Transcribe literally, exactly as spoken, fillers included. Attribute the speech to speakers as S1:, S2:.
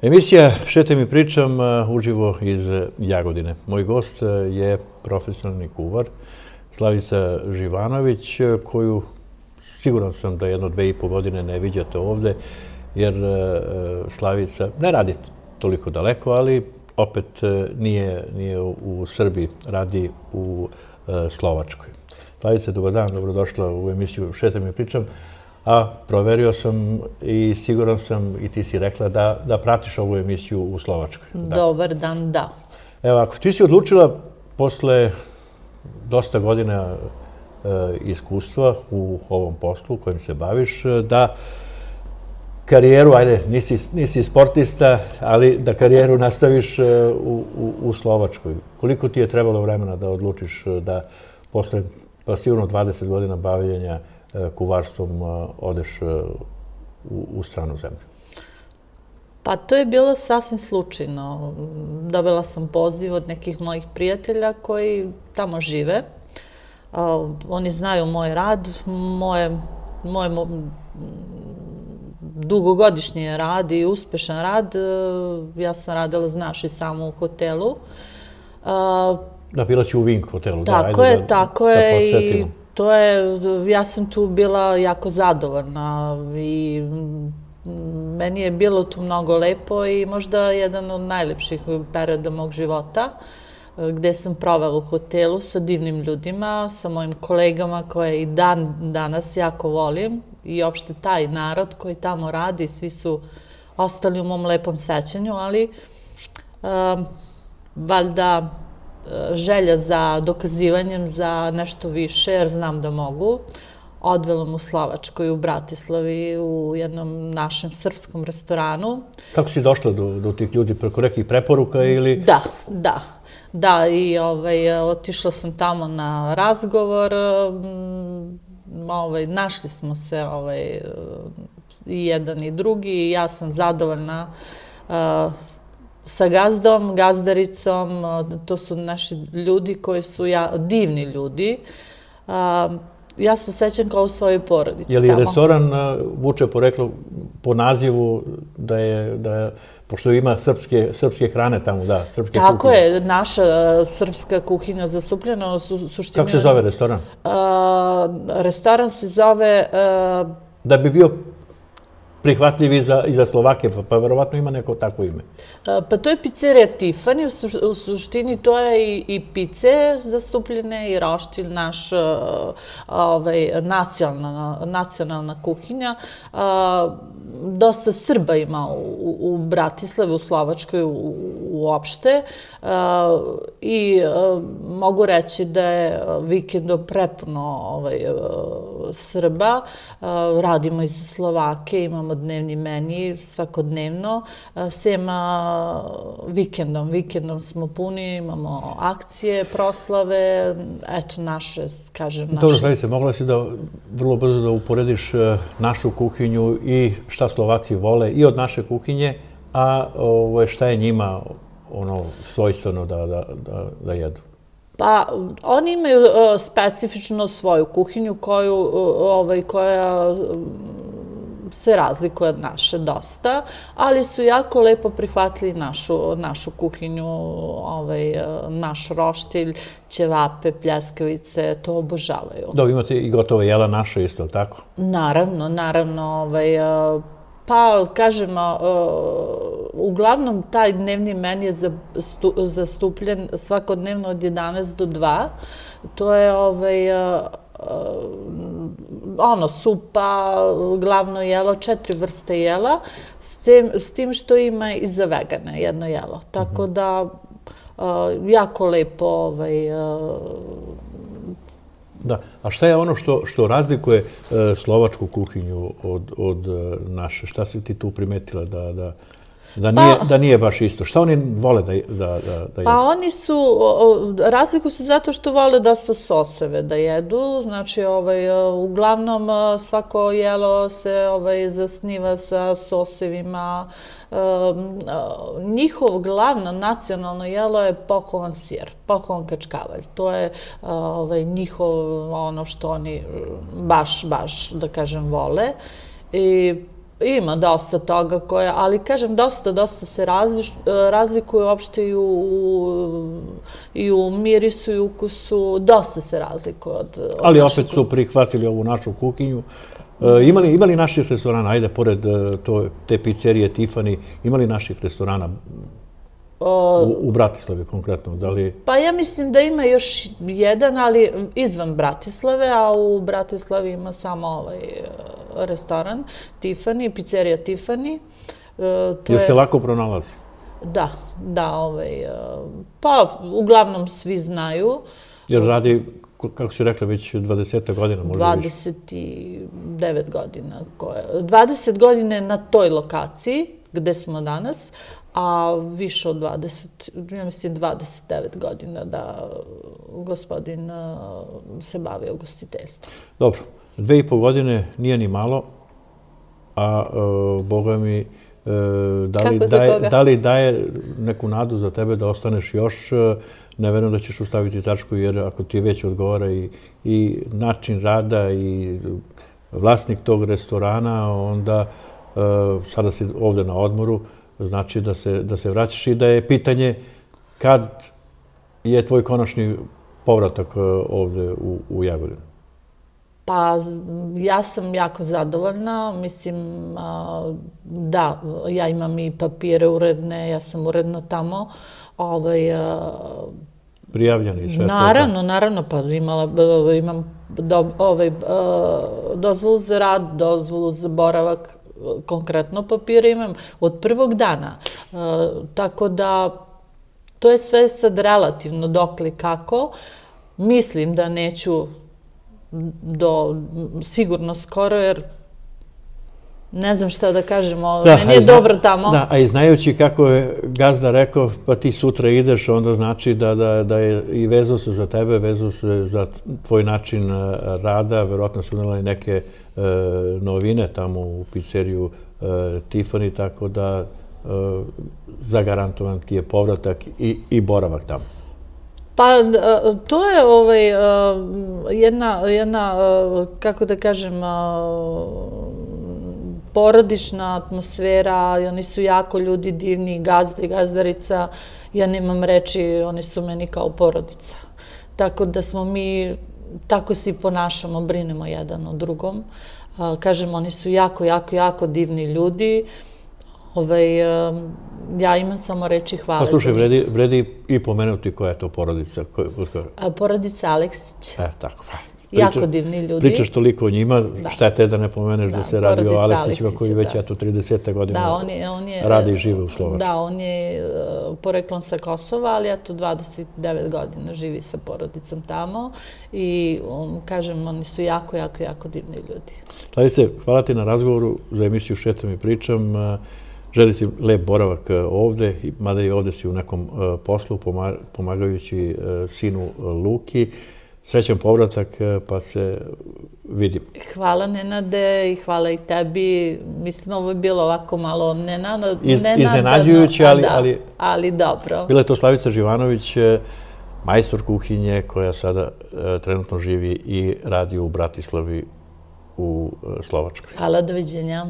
S1: Emisija Šetam i pričam uživo iz Jagodine. Moj gost je profesionalni kuvar Slavica Živanović, koju siguran sam da jedno dve i po godine ne viđate ovde, jer Slavica ne radi toliko daleko, ali opet nije, nije u Srbiji, radi u Slovačkoj. Slavica, dobar dan, dobrodošla u emisiju Šetam i pričam. A proverio sam i siguran sam, i ti si rekla, da, da pratiš ovu emisiju u Slovačkoj. Da.
S2: Dobar dan, da.
S1: Evo, ako ti si odlučila posle dosta godina e, iskustva u ovom poslu kojim se baviš, da karijeru, ajde, nisi, nisi sportista, ali da karijeru nastaviš e, u, u, u Slovačkoj. Koliko ti je trebalo vremena da odlučiš da posle, pa sigurno dvadeset godina bavljenja kuvarstvom odeš u, u stranu zemlju?
S2: Pa to je bilo sasvim slučajno. Dobila sam poziv od nekih mojih prijatelja koji tamo žive. Uh, oni znaju moj rad, moje, moje dugogodišnji rad i uspešan rad. Uh, ja sam radila, znaš, i samo u hotelu.
S1: Uh, da, bila si u Vink hotelu.
S2: Tako
S1: da,
S2: je,
S1: da,
S2: tako
S1: da
S2: je.
S1: I
S2: to je, ja sam tu bila jako zadovoljna i meni je bilo tu mnogo lepo i možda jedan od najlepših perioda mog života, gde sam provela u hotelu sa divnim ljudima, sa mojim kolegama koje i dan danas jako volim i opšte taj narod koji tamo radi, svi su ostali u mom lepom sećanju, ali um, valjda želja za dokazivanjem za nešto više, jer znam da mogu. Odvela mu u Slovačkoj, u Bratislavi, u jednom našem srpskom restoranu.
S1: Kako si došla do, do tih ljudi? Preko nekih preporuka ili...
S2: Da, da. Da, i ovaj, otišla sam tamo na razgovor. Ovaj, našli smo se ovaj, i jedan i drugi i ja sam zadovoljna uh, sa gazdom, gazdaricom, to su naši ljudi koji su ja, divni ljudi. Ja se osjećam kao u svojoj porodici.
S1: Je li restoran vuče poreklo po nazivu da je, da je, pošto ima srpske, srpske hrane tamo, da, srpske kuhinje?
S2: Tako je, naša srpska kuhinja zastupljena u suštini...
S1: Kako se zove restoran?
S2: Restoran se zove...
S1: Da bi bio prihvatljiv i za, i za Slovake, pa, pa verovatno ima neko takvo ime.
S2: Pa to je pizzerija Tiffany, u, u suštini to je i, i pice zastupljene i roštilj, naš ovaj, nacionalna, nacionalna kuhinja. Dosta Srba ima u, u Bratislavi, u Slovačkoj u, uopšte i mogu reći da je vikendom prepuno ovaj, Srba. Radimo i za Slovake, imamo dnevni meni svakodnevno, sem vikendom. Vikendom smo puni, imamo akcije, proslave, eto naše, kažem, naše...
S1: Dobro, Slavice, mogla si da vrlo brzo da uporediš našu kuhinju i šta Slovaci vole i od naše kuhinje, a ovo, šta je njima ono svojstveno da, da, da, da jedu?
S2: Pa, oni imaju uh, specifično svoju kuhinju koju, uh, ovaj, koja se razlikuje od naše dosta, ali su jako lepo prihvatili našu, našu kuhinju, ovaj, naš roštilj, ćevape, pljeskavice, to obožavaju.
S1: Da, imate i gotovo jela naše isto, tako?
S2: Naravno, naravno. Ovaj, pa, kažem, uglavnom taj dnevni meni je zastupljen svakodnevno od jedanaest do dva. To je ovaj, ono, supa, glavno jelo, četiri vrste jela, s tim, s tim što ima i za vegane jedno jelo. Tako da, jako lepo ovaj,
S1: Da, a šta je ono što, što razlikuje e, slovačku kuhinju od, od naše? Šta si ti tu primetila da, da, da, nije, pa, da nije baš isto? Šta oni vole da, da, da, da jedu?
S2: Pa oni su, razlikuju se zato što vole dosta soseve da jedu. Znači, ovaj, uglavnom svako jelo se ovaj, zasniva sa sosevima. Njihov glavno nacionalno jelo je pokovan sir, pokovan kačkavalj. To je ovaj, njihov ono što oni baš, baš, da kažem, vole. I Ima dosta toga koje, ali kažem, dosta, dosta se razlikuju uopšte i u, i u mirisu i ukusu, dosta se razlikuje od, od
S1: ali opet su prihvatili ovu našu kuhinju. E, imali, imali naših restorana, ajde, pored to, te pizzerije Tiffany, imali naših restorana u, u Bratislavi konkretno? Da li...
S2: Pa ja mislim da ima još jedan, ali izvan Bratislave, a u Bratislavi ima samo ovaj restoran Tiffany, pizzerija Tiffany.
S1: Jel se lako pronalazi?
S2: Da, da, ovaj, pa uglavnom svi znaju.
S1: Jer radi, kako si rekla, već dvadeset godina možda više?
S2: dvadeset devet godina. dvadeset godine na toj lokaciji gde smo danas, a više od dvadeset, ja mislim dvadeset devet godina da gospodin se bavi ugostiteljstvom.
S1: Dobro, dve i po godine nije ni malo, a boga mi, da li, daje, da li daje neku nadu za tebe da ostaneš još? Ne verujem da ćeš ustaviti tačku, jer ako ti već odgovara i, i način rada i vlasnik tog restorana, onda sada si ovde na odmoru, znači da se, da se vraćaš i da je pitanje kad je tvoj konačni povratak ovde u, u Jagodinu?
S2: Pa ja sam jako zadovoljna, mislim da, ja imam i papire uredne, ja sam uredno tamo. Ovaj,
S1: prijavljeni i sve to?
S2: Naravno, naravno, pa imala, imam do, ovaj, dozvolu za rad, dozvolu za boravak, konkretno papire imam od prvog dana. Tako da to je sve sad relativno dokle kako. Mislim da neću do sigurno skoro, jer ne znam šta da kažem, meni je dobro tamo.
S1: Da, a i znajući kako je gazda rekao, pa ti sutra ideš, onda znači da je i vezao se za tebe, vezao se za tvoj način rada, verovatno su unela i neke novine tamo u pizzeriju Tiffany, tako da zagarantovan ti je povratak i boravak tamo.
S2: Pa to je ovaj, jedna, jedna, kako da kažem, porodična atmosfera, i oni su jako ljudi divni, gazda i gazdarica, ja nemam reči, oni su meni kao porodica. Tako da smo mi, tako se ponašamo, brinemo jedan o drugom. Kažem, oni su jako, jako, jako divni ljudi. Ovaj, ja imam samo reči hvala za njih.
S1: Pa slušaj, vredi i pomenuti koja je to porodica?
S2: Porodica Aleksić.
S1: E, tako, pa.
S2: Jako divni ljudi.
S1: Pričaš toliko o njima, šta je te da ne pomeneš da se radi o Aleksićima koji već eto trideset godina radi i žive u Slovačkoj.
S2: Da, on je poreklom sa Kosova, ali eto dvadeset devet godina živi sa porodicom tamo i kažem, oni su jako, jako, jako divni ljudi.
S1: Slavice, hvala ti na razgovoru za emisiju Šetam i pričam. Želim si lep boravak ovde, mada i ovde si u nekom poslu pomagajući sinu Luki. Srećan povratak, pa se vidimo.
S2: Hvala Nenade i hvala i tebi. Mislim, ovo je bilo ovako malo nenadano.
S1: Iznenađujuće, ali...
S2: Ali dobro.
S1: Bila je to Slavica Živanović, majstor kuhinje koja sada trenutno živi i radi u Bratislavi u Slovačkoj.
S2: Hvala, doviđenja.